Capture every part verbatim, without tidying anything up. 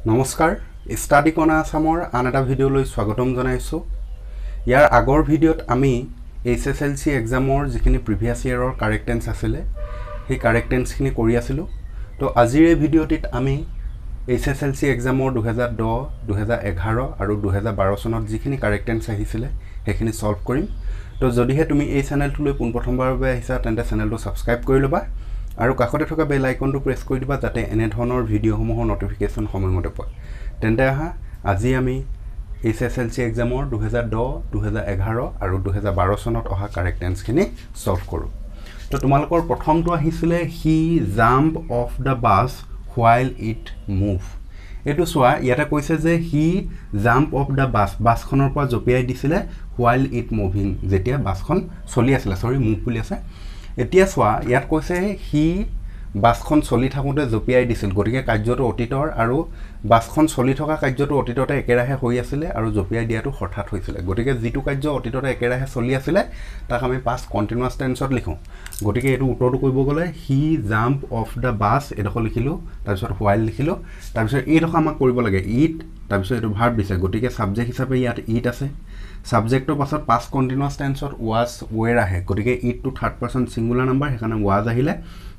নমস্কাৰ, study corner আছামৰ আন এটা ভিডিঅ'লৈ স্বাগতম জনাইছোঁ। ইয়াৰ আগৰ ভিডিঅ'ত আমি এইচ এছ এল চি এক্সামৰ যিখিনি প্ৰিভিয়াছ ইয়েৰৰ কাৰেক্ট টেন্স আছিলে, সেই কাৰেক্ট টেন্সখিনি কৰি আছিলোঁ। তো আজিৰ এই ভিডিঅ'টিত আমি এইচ এছ এল চি এক্সামৰ দুহেজাৰ দহ, দুহেজাৰ এঘাৰ আৰু দুহেজাৰ বাৰ চনত যিখিনি কাৰেক্ট টেন্স আহিছিলে, সেইখিনি ছল্ভ কৰিম। তো যদিহে তুমি এই চেনেলটোলৈ পোনপ্ৰথমবাৰৰ বাবে আহিছা, তেন্তে চেনেলটো ছাবস্ক্ৰাইব কৰি ল'বা আৰু কাষতে থকা বেল আইকনটো প্ৰেছ কৰি দিবা, যাতে এনেধৰণৰ ভিডিঅ'সমূহৰ ন'টিফিকেশ্যন সময়মতে পোৱা। তেন্তে আহা, আজি আমি এইচ এছ এল চি এক্সামৰ দুহেজাৰ দহ, দুহেজাৰ এঘাৰ আৰু দুহেজাৰ বাৰ চনত অহা কাৰেক্ট টেন্সখিনি ছল্ভ কৰোঁ। তো তোমালোকৰ প্ৰথমটো আহিছিলে, "He jump off the bus while it move." এইটো চোৱা, ইয়াতে কৈছে যে he jump off the bus, বাছখনৰ পৰা জঁপিয়াই দিছিলে, হোৱাইল it moving, যেতিয়া বাছখন চলি আছিলে। চৰি, মুভ বুলি আছে। এতিয়া চোৱা, ইয়াত কৈছে সি বাছখন চলি থাকোঁতে জঁপিয়াই দিছিল। গতিকে কাৰ্যটো অতীতৰ আৰু বাছখন চলি থকা কাৰ্যটো অতীততে একেৰাহে হৈ আছিলে আৰু জঁপিয়াই দিয়াটো হঠাৎ হৈছিলে। গতিকে যিটো কাৰ্য অতীততে একেৰাহে চলি আছিলে, তাক আমি পাষ্ট কণ্টিনিউৱাছ টেন্সত লিখোঁ। গতিকে এইটো উত্তৰটো কৰিব গ'লে "He jump off the bus" এইডোখৰ লিখিলোঁ, তাৰপিছত হোৱাইল লিখিলোঁ, তাৰপিছত এইডোখৰ আমাক কৰিব লাগে it, তাৰপিছত এইটো ভাৰ্ব দিছে। গতিকে ছাবজেক্ট হিচাপে ইয়াত it আছে। ছাবজেক্টৰ পাছত পাষ্ট কণ্টিনিউৱাছ টেন্সত ৱাজ, ৱেৰ আহে। গতিকে ইটটো থাৰ্ড পাৰ্চন ছিংগুলাৰ নাম্বাৰ, সেইকাৰণে ৱাজ আহিলে।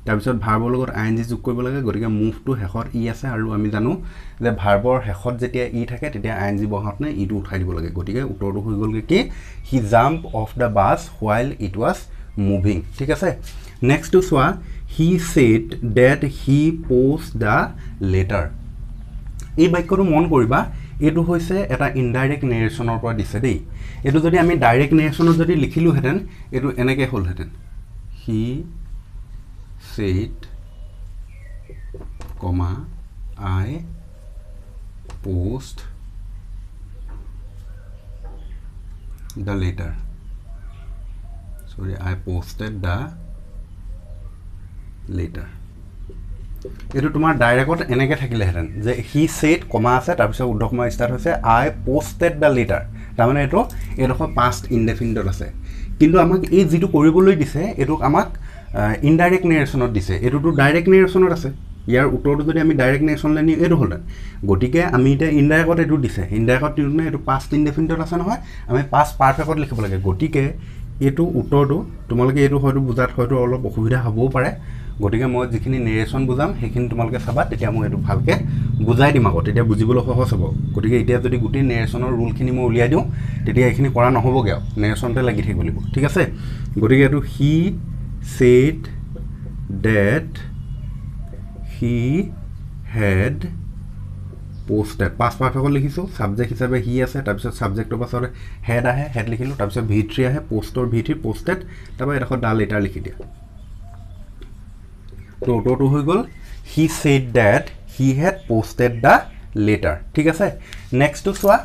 তাৰপিছত ভাৰ্বৰ লগত আই এন জি যোগ কৰিব লাগে। গতিকে মুভটো শেষত ই আছে আৰু আমি জানো যে ভাৰ্বৰ শেষত যেতিয়া ই থাকে, তেতিয়া আই এন জি বহাওঁতে ইটো উঠাই দিব লাগে। গতিকে উত্তৰটো হৈ গ'লগৈ কি? "He jump off the bus while it was moving." ঠিক আছে, নেক্সটটো চোৱা, "He said that he post the letter." এই বাক্যটো মন কৰিবা, এইটো হৈছে এটা ইনডাইৰেক্ট নেৰেশ্যনৰ পৰা দিছে দেই। এইটো যদি আমি ডাইৰেক্ট নেৰেশ্যনত যদি লিখিলোহেঁতেন, এইটো এনেকৈ হ'লহেঁতেন, "He said comma I post the letter, sorry, I posted the letter." এইটো তোমাৰ ডাইৰেক্টত এনেকৈ থাকিলেহেঁতেন যে হি ছেড, কমা আছে, তাৰপিছত ঊৰ্ধ্ব কমা ষ্টাৰ্ট হৈছে, "I posted the letter." তাৰমানে এইটো এইডোখৰ পাষ্ট ইনডেফিনিটত আছে। কিন্তু আমাক এই যিটো কৰিবলৈ দিছে, এইটোক আমাক ইনডাইৰেক্ট নেৰেশ্যনত দিছে। এইটোতো ডাইৰেক্ট নেৰেশ্যনত আছে। ইয়াৰ উত্তৰটো যদি আমি ডাইৰেক্ট নেৰেশ্যনলৈ নিওঁ, এইটো হ'লহেঁতেন। গতিকে আমি এতিয়া ইনডাইৰেক্টত এইটো দিছে। ইনডাইৰেক্টত দিওঁতে এইটো পাষ্ট ইনডেফিনিটত আছে নহয়, আমি পাষ্ট পাৰফেক্টত লিখিব লাগে। গতিকে এইটো উত্তৰটো তোমালোকে এইটো হয়তো বুজাত হয়তো অলপ অসুবিধা হ'বও পাৰে। গতিকে মই যিখিনি নেৰেশ্যন বুজাম, সেইখিনি তোমালোকে চাবা, তেতিয়া মই এইটো ভালকৈ বুজাই দিম আকৌ, তেতিয়া বুজিবলৈ সহজ হ'ব। গতিকে এতিয়া যদি গোটেই নেৰেশ্যনৰ ৰুলখিনি মই উলিয়াই দিওঁ, তেতিয়া এইখিনি কৰা নহ'বগৈ আৰু নেৰেশ্যনতে লাগি থাকিব লাগিব। ঠিক আছে, গতিকে এইটো "He said that he had posted", past পাৰফেক্টত লিখিছোঁ। ছাবজেক্ট হিচাপে হি আছে, তাৰপিছত ছাবজেক্টৰ পাছত হেড আহে, হেড লিখিলোঁ, তাৰপিছত ভি থ্ৰী আহে, পষ্টৰ ভি থ্ৰী পষ্টেড, তাৰপৰা এডোখৰ the letter লিখি দিয়া। তো উত্তৰটো হৈ গ'ল, "He said that he had posted the letter." ঠিক আছে, নেক্সটটো চোৱা,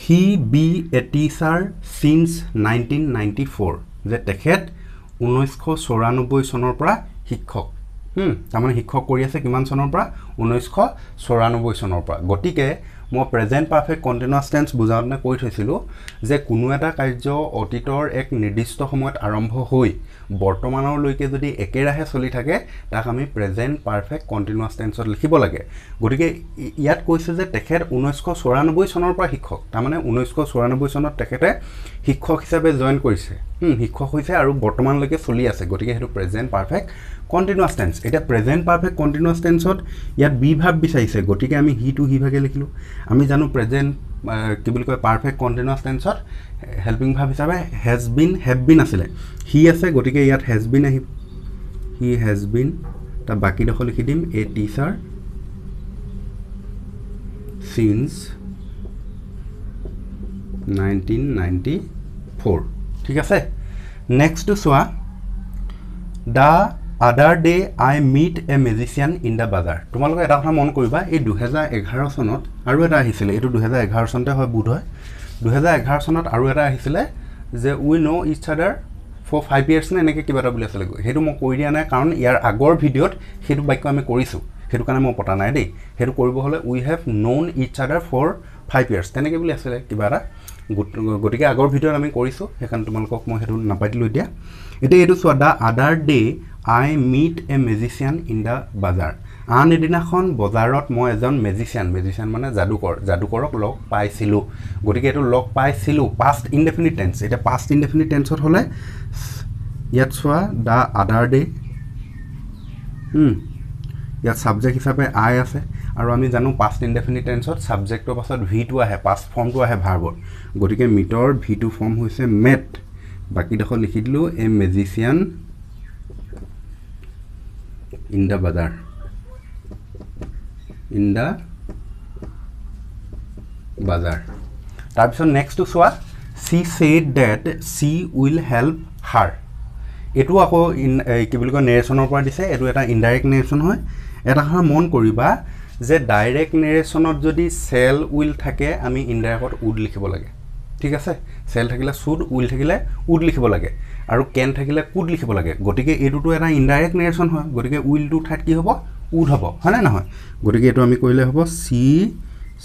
"He be a teacher since nineteen ninety four." যে তেখেত ঊনৈছশ চৌৰান্নব্বৈ চনৰ পৰা শিক্ষক। তাৰমানে শিক্ষক কৰি আছে কিমান চনৰ পৰা? ঊনৈছশ চৌৰান্নব্বৈ চনৰ পৰা। গতিকে মই প্ৰেজেণ্ট পাৰফেক্ট কণ্টিনিউৱাছ টেন্স বুজাওঁতে কৈ থৈছিলোঁ যে কোনো এটা কাৰ্য অতীতৰ এক নিৰ্দিষ্ট সময়ত আৰম্ভ হৈ বৰ্তমানলৈকে যদি একেৰাহে চলি থাকে, তাক আমি প্ৰেজেণ্ট পাৰফেক্ট কণ্টিনিউৱাছ টেন্সত লিখিব লাগে। গতিকে ইয়াত কৈছে যে তেখেত ঊনৈছশ চৌৰান্নব্বৈ চনৰ পৰা শিক্ষক। তাৰমানে ঊনৈছশ চৌৰান্নব্বৈ চনত তেখেতে শিক্ষক হিচাপে জইন কৰিছে, শিক্ষক হৈছে আৰু বৰ্তমানলৈকে চলি আছে। গতিকে সেইটো প্ৰেজেণ্ট পাৰফেক্ট কণ্টিনিউৱাছ টেন্স। এতিয়া প্ৰেজেণ্ট পাৰফেক্ট কণ্টিনিউৱাছ টেন্সত ইয়াত বি ভাৰ্ব বিচাৰিছে। গতিকে আমি হিটো হি ভাগে লিখিলোঁ। আমি জানো প্ৰেজেণ্ট কি বুলি কয়, পাৰফেক্ট কণ্টিনিউৱাছ টেন্সত হেল্পিং ভাৰ্ব হিচাপে হেজ বিন, have been আছিলে। হি আছে, গতিকে ইয়াত হেজ বিন আহিব। He has been, তাৰ বাকীডোখৰ লিখি দিম, a teacher since nineteen ninety four. ঠিক আছে, নেক্সটটো চোৱা, "The other day I meet a magician in the bazaar." তোমালোকে এটা কথা মন কৰিবা, এই দুহেজাৰ এঘাৰ চনত আৰু এটা আহিছিলে। এইটো দুহেজাৰ এঘাৰ চনতে হয় বোধ হয়। দুহেজাৰ এঘাৰ চনত আৰু এটা আহিছিলে যে "We know each other for five years" নে এনেকৈ কিবা এটা বুলি আছিলে। সেইটো মই কৰি দিয়া নাই, কাৰণ ইয়াৰ আগৰ ভিডিঅ'ত সেইটো বাক্য আমি কৰিছোঁ। সেইটো কাৰণে মই পতা নাই দেই। সেইটো কৰিব হ'লে "We have known each other for five years" তেনেকৈ বুলি আছিলে কিবা এটা। গতিকে আগৰ ভিডিঅ'ত আমি কৰিছোঁ, সেইকাৰণে তোমালোকক মই সেইটো নাপাতিলোঁ এতিয়া। এতিয়া এইটো চোৱা, "The other day I meet a magician in the bazaar." আন এদিনাখন বজাৰত মই এজন মেজিচিয়ান, মেজিচিয়ান মানে যাদুকৰ, যাদুকৰক লগ পাইছিলোঁ। গতিকে এইটো লগ পাইছিলোঁ পাষ্ট ইনডেফিনিট টেন্স। এতিয়া পাষ্ট ইনডেফিনিট টেন্সত হ'লে ইয়াত চোৱা the other day, ইয়াত ছাবজেক্ট হিচাপে আই আছে আৰু আমি জানো পাষ্ট ইনডেফিনিট টেন্সত ছাবজেক্টৰ পাছত ভি টু আহে, পাষ্ট ফৰ্মটো আহে ভাৰ্বৰ। গতিকে মিটৰ ভি টু ফৰ্ম হৈছে মেট। বাকীডোখৰ লিখি দিলোঁ a magician in the bazaar, in the bazaar. তাৰপিছত নেক্সটটো চোৱা, she said that she will help her. এইটো আকৌ ইন কি বুলি কয় নেৰেশ্যনৰ পৰা দিছে, এইটো এটা ইনডাইৰেক্ট নেৰেশ্যন হয়। এটা কথা মন কৰিবা যে ডাইৰেক্ট নেৰেশ্যনত যদি চেল will থাকে আমি ইনডাইৰেক্টত উড লিখিব লাগে, ঠিক আছে। চেল থাকিলে should, will থাকিলে উড লিখিব লাগে আৰু কেন থাকিলে could লিখিব লাগে। গতিকে এইটোতো এটা ইনডাইৰেক্ট নেৰেশ্যন হয়, গতিকে উইলটোৰ ঠাইত কি হ'ব, উড হ'ব, হয়নে নহয়? গতিকে এইটো আমি কৰিলে হ'ব চি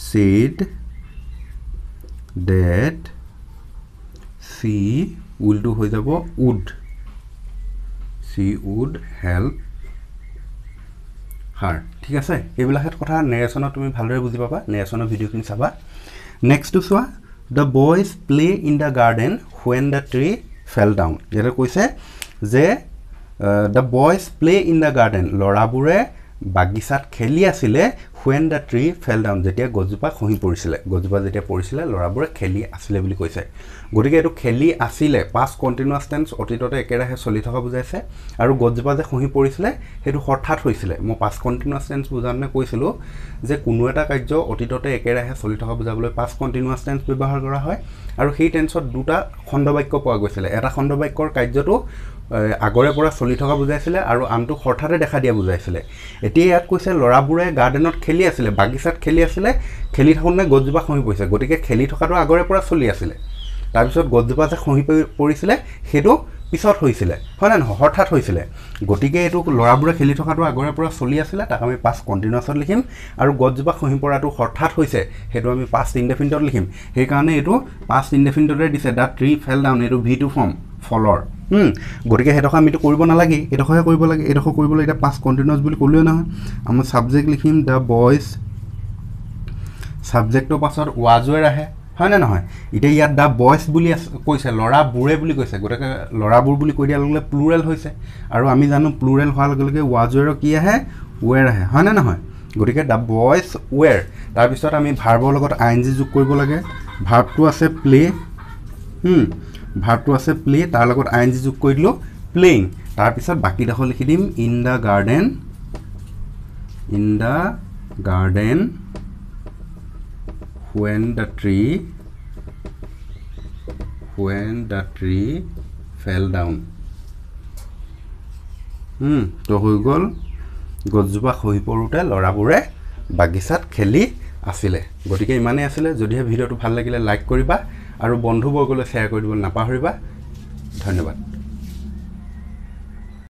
ছেড ডেট চি উইলটো হৈ যাব would, she would help her, ঠিক আছে। এইবিলাক কথা নেৰেশ্যনত তুমি ভালদৰে বুজি পাবা, নেৰেশ্যনৰ ভিডিঅ'খিনি চাবা। নেক্সটটো চোৱা, the boys play in the garden when the tree fell down. ইয়াতে কৈছে যে the boys play in the garden, ল'ৰাবোৰে বাগিচাত খেলি আছিলে when the tree fell down, যেতিয়া গছজোপা খহি পৰিছিলে, গছজোপা যেতিয়া পৰিছিলে ল'ৰাবোৰে খেলি আছিলে বুলি কৈছে। গতিকে এইটো খেলি আছিলে পাষ্ট কণ্টিনিউৱাছ টেন্স, অতীততে একেৰাহে চলি থকা বুজাইছে। আৰু গছজোপা যে খহি পৰিছিলে সেইটো হঠাৎ হৈছিলে। মই পাষ্ট কণ্টিনিউৱাছ টেন্স বুজাওঁতে কৈছিলোঁ যে কোনো এটা কাৰ্য অতীততে একেৰাহে চলি থকা বুজাবলৈ পাষ্ট কণ্টিনিউৱাছ টেন্স ব্যৱহাৰ কৰা হয়। আৰু সেই টেন্সত দুটা খণ্ডবাক্য পোৱা গৈছিলে, এটা খণ্ডবাক্যৰ কাৰ্যটো আগৰে পৰা চলি থকা বুজাইছিলে আৰু আনটো হঠাতে দেখা দিয়া বুজাইছিলে। এতিয়া ইয়াত কৈছে ল'ৰাবোৰে গাৰ্ডেনত খেলি আছিলে, বাগিচাত খেলি আছিলে, খেলি থাকোঁতে গছজোপা খহি পৰিছে। গতিকে খেলি থকাটো আগৰে পৰা চলি আছিলে, তাৰপিছত গছজোপা যে খহি পৰিছিলে সেইটো পিছত হৈছিলে, হয় নে নহয়, হঠাৎ হৈছিলে। গতিকে এইটো ল'ৰাবোৰে খেলি থকাটো আগৰে পৰা চলি আছিলে, তাক আমি পাষ্ট কণ্টিনিউৱাছত লিখিম। আৰু গছজোপা খহি পৰাটো হঠাৎ হৈছে, সেইটো আমি পাষ্ট ইনডেফিনিটত লিখিম। সেইকাৰণে এইটো পাষ্ট ইনডেফিনিটতে দিছে, the tree fell down, এইটো ভি টু ফৰ্ম ফলৰ। গতিকে সেইডোখৰ আমিতো কৰিব নালাগে, এইডোখৰহে কৰিব লাগে। এইডোখৰ কৰিবলৈ এতিয়া পাষ্ট কণ্টিনিউৱাছ বুলি ক'লোৱে নহয়। আমি ছাবজেক্ট লিখিম the boys, ছাবজেক্টৰ পাছত ৱাজ ৱেৰ আহে, হয়নে নহয়? এতিয়া ইয়াত the boys বুলি কৈছে, ল'ৰাবোৰে বুলি কৈছে, গতিকে ল'ৰাবোৰ বুলি কৈ দিয়াৰ লগে লগে প্লুৰেল হৈছে। আৰু আমি জানো প্লুৰেল হোৱাৰ লগে লগে ৱাজ ৱেৰৰ কি আহে, ৱেৰ আহে, হয়নে নহয়? গতিকে the boys ৱেৰ। তাৰপিছত আমি ভাৰ্বৰ লগত আই এন জি যোগ কৰিব লাগে। ভাৰ্বটো আছে প্লে, ভাৰ্বটো আছে প্লে, তাৰ লগত আই এন জি যোগ কৰি দিলোঁ প্লেয়িং। তাৰপিছত বাকীডোখৰ লিখি দিম in the garden, in the garden when the tree, when the tree fell down। তো হৈ গ'ল, গছজোপা খহি পৰোঁতে ল'ৰাবোৰে বাগিচাত খেলি আছিলে। গতিকে ইমানেই আছিলে। যদিহে ভিডিঅ'টো ভাল লাগিলে লাইক কৰিবা আৰু বন্ধুবৰ্গলৈ শ্বেয়াৰ কৰি দিব নাপাহৰিবা। ধন্যবাদ।